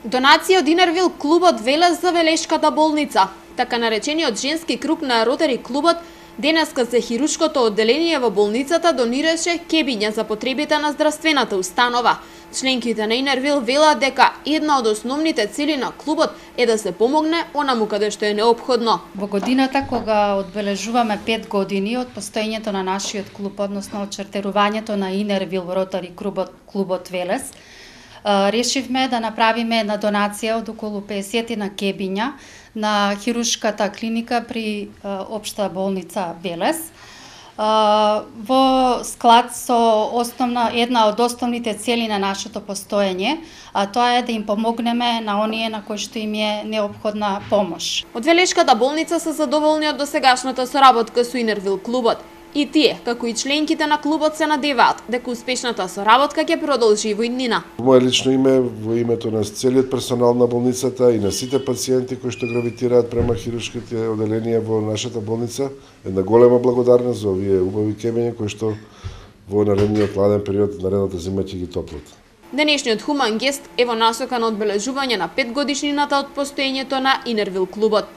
Донација од Инервил клубот Велес за Велешката болница. Така наречениот женски круг на Ротари клубот денеска за хирушкото одделение во болницата донираше кебиња за потребите на здравствената установа. Членките на Инервил велат дека една од основните цели на клубот е да се помогне онаму каде што е неопходно. Во годината кога одбележуваме 5 години од постоењето на нашиот клуб, односно од чартерувањето на Инервил Ротари клубот Велес, решивме да направиме една донација од околу 50 на кебиња на хирушката клиника при општа болница Велес. Во склад со една од основните цели на нашето постоење, а тоа е да им помогнеме на оние на кои што им е неопходна помош. Од Велешката болница се задоволни од досегашната соработка со Инервил клубот. И тие, како и членките на клубот, се надеваат дека успешната соработка ќе продолжи во иднина. Во мое лично име, во името на целиот персонал на болницата и на сите пациенти кои што гравитираат према хирушките одделенија во нашата болница, една голема благодарност за овие убави кебиња кои што во наредниот ладен период, наредната зима ќе ги топлат. Денешниот хуман гест е во насока на одбележување на 5 годишнината од постоењето на Инервил клубот.